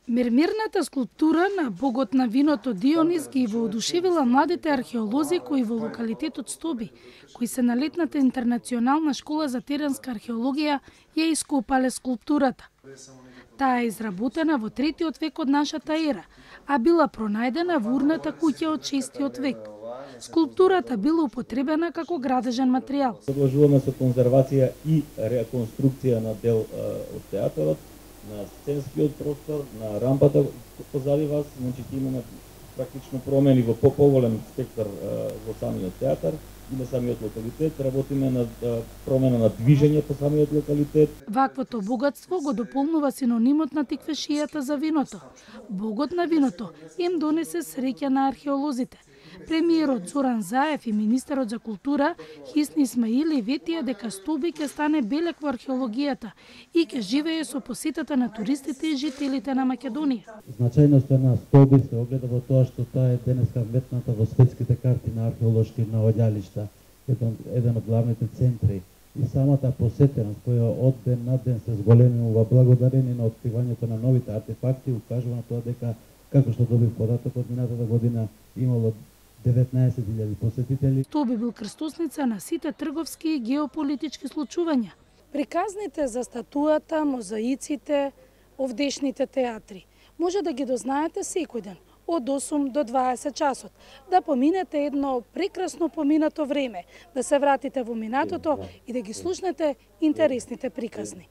Мермерната скулптура на богот на виното Дионис ги воодушевила младите археолози кои во локалитетот Стоби, кои се на летната интернационална школа за теренска археологија, ја ископале скулптурата. Таа е изработена во 3-тиот век од нашата ера, а била пронајдена во урната куќа од 6-тиот век. Скулптурата била употребена како градежен материјал. Продолжуваме со конзервација и реконструкција на дел од театарот, на сценскиот простор, на рампата позади вас, значи ќе имаме практично промени во поголем спектар во самиот театар и на самиот локалитет. Работиме на промена на движење по самиот локалитет. Ваквото богатство го дополнува синонимот на тиквешијата за виното. Богот на виното им донесе среќа на археолозите. Премиерот Зоран Заев и министерот за култура Хисни Исмаили ветија дека Стоби ќе стане белек во археологијата и ќе живее со посетата на туристите и жителите на Македонија. Значајноста на Стоби се огледа во тоа што таа е денеска вметната во светските карти на археолошки наоѓалишта, еден од главните центри. И самата посетеност која од ден на ден се зголемува благодарение на откривањето на новите артефакти укажува на тоа дека, како што добив податок од минатата година, имало 19.000 посетители. Стоби бил крстосница на сите трговски и геополитички случувања. Приказните за статуата, мозаиците, овдешните театри може да ги дознаете секој ден од 8 до 20 часот, да поминете едно прекрасно поминато време, да се вратите во минатото и да ги слушнете интересните приказни.